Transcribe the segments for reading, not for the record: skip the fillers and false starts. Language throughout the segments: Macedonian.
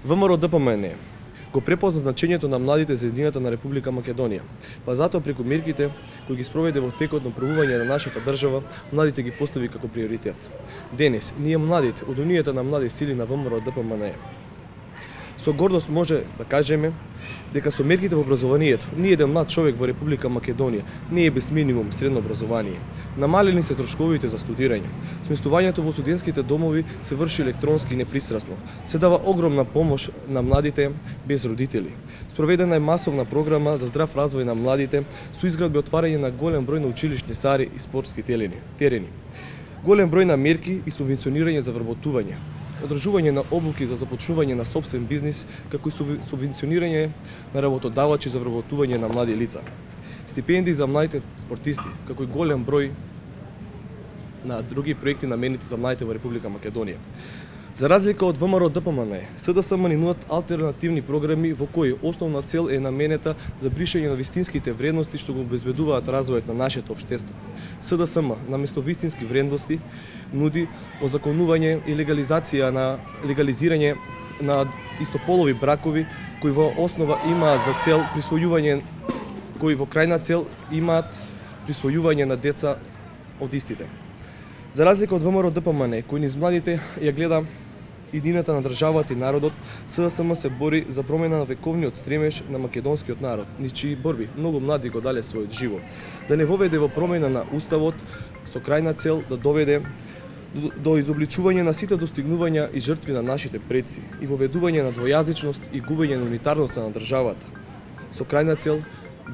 ВМРО ДПМН го препозна значењето на младите за едината на Република Македонија, па затоа преку мерките кои ги спроведе во текот на правување на нашата држава, младите ги постави како приоритет. Денес, ние младите, од Унијата на млади сили на ВМРО ДПМН, со гордост може да кажеме дека со мерките во образованието, ни еден млад човек во Република Македонија не е без минимум средно образование. Намалени се трошковите за студирање. Сместувањето во студентските домови се врши електронски и непристрасно. Се дава огромна помош на младите без родители. Спроведена е масовна програма за здрав развој на младите со изградба и отварање на голем број на училишни сали и спортски терени. Голем број на мерки и субвенционирање за вработување. Одржување на обуки за започнување на собствен бизнис, како и субвенционирање на работодавачи за вработување на млади лица. Стипендии за младите спортисти, како и голем број на други проекти наменети за младите во Република Македонија. За разлика од ВМРО ДПМН, СДСМ ни нудат алтернативни програми во кои основна цел е наменета за бришање на вистинските вредности што го обезбедуваат развојот на нашето општество. СДСМ наместо вистински вредности нуди озаконување и легализирање на истополови бракови кои во основа имаат за цел кои во крајна цел имаат присвојување на деца од истите. За разлика од ВМРО ДПМН, кој низ младите ја гледа едината на државата и народот, СДСМ се бори за промена на вековниот стремеж на македонскиот народ, низ чии борби многу млади го дале својот живот, да не воведе во промена на уставот со крајна цел да доведе до изобличување на сите достигнувања и жртви на нашите предци и воведување на двојазичност и губење на унитарноста на државата, со крајна цел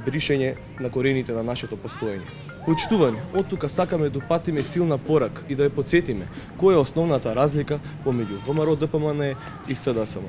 бришење на корените на нашето постоење. Почитувани, од тука сакаме да упатиме силна порака и да ја потсетиме која е основната разлика помеѓу ВМРО ДПМН и СДСМ.